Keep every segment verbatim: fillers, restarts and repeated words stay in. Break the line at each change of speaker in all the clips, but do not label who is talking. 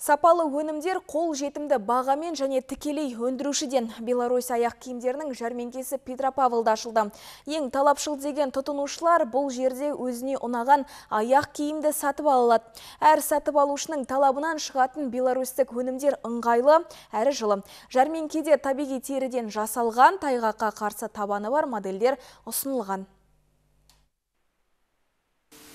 Сапалы өнімдер қол жетімді бағамен және тікелей өндірушіден. Беларусь аяқ киімдерінің жәрмеңкесі Петропавлда ашылды. Ең талапшыл деген тұтынушылар бұл жерде өзіне ұнаған аяқ киімді сатып алады. Әр сатып алушының талабынан шығатын беларусьтік өнімдер ыңғайлы, әрі жылы. Жәрмеңкеде табиғи теріден жасалған, тайғаққа қарсы табаны бар модельдер ұсынылған.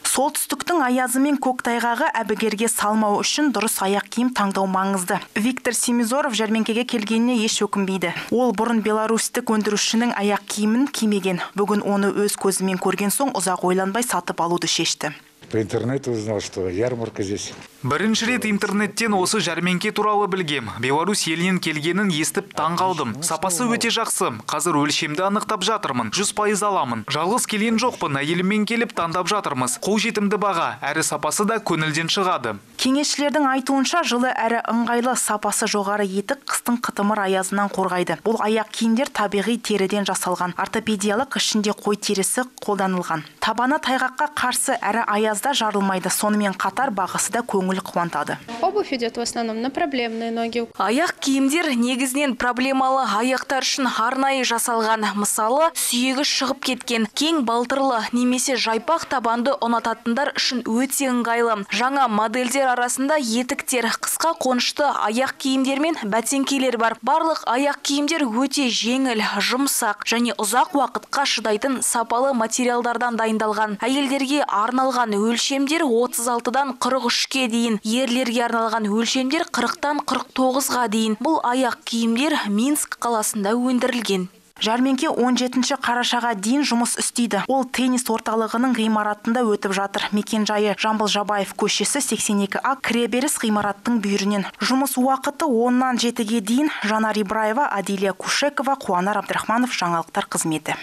Солтүстіктің аязы мен көктайғағы әбігерге салмау үшін дұрыс аяқ киім таңдау маңызды. Виктор Семизоров жәрмеңкеге келгеніне еш өкінбейді. Ол бұрын беларусьтік өндірушінің аяқ киімін кимеген. Бүгін оны өз көзімен көрген соң ұзақ ойланбай сатып алуды шешті.
По интернету узнал, что ярмарка здесь.
Бірінші рет интернеттен осы жәрмеңке туралы білгем. Беларусь елінен келгенін естіп таңғалдым. Сапасы өте жақсы. Қазір өлшемді анықтап жатырмын. жүз пайыз аламын. Жалғыз келген жоқпын, әйеліммен келіп таңдап жатырмыз. Қолжетімді баға, әрі сапасы да көңілден шығады.
Кеңесшілердің айтуынша жылы әрі ыңғайлы, сапасы жоғары етік қыстың қытымыр аязынан қорғайды. Бұл аяқ киімдер табиғи теріден жасалған. Ортопедиялық ішінде қой терісі қолданылған. Табаны тайғаққа қарсы әрі аязда жарылмайды. Сонымен қатар бағасы да көңіл қуантады.
Обувь идет в основном на проблемные ноги.
Аяқ киімдер негізінен проблемалы аяқтар үшін арнайы жасалған. Мысалы, сүйегі шығып кеткен, кең балтырлы немесе жайпақ табанды ұнататындар үшін өте ыңғайлы. Жаңа модельдер арасында етіктер, қысқа қонышты аяқ киімдер мен бәтеңкелер бар. Барлық аяқ киімдер өте жеңіл, жұмсақ және ұзақ уақытқа шыдайтын сапалы материалдардан дайындалған. Әйелдерге арналған өлшемдер отыз алтыдан қырық үшке дейін, ерлерге арналған өлшемдер қырықтан қырық тоғызға дейін. Бұл аяқ киімдер Минск қаласында өндірілген.
Жәрмеңке он жетінші қарашаға дейін жұмыс істейді. Ол теннис орталығының ғимаратында өтіп жатыр. Мекенжайы Жамбыл Жабаев көшесі сексен екі А кіреберіс ғимараттың бүйірінен. Жұмыс уақыты оннан жетіге дейін. Жанар Ибраева, Адилия Кушекова, Қуанар Абдрахманов, жаңалықтар қызметі.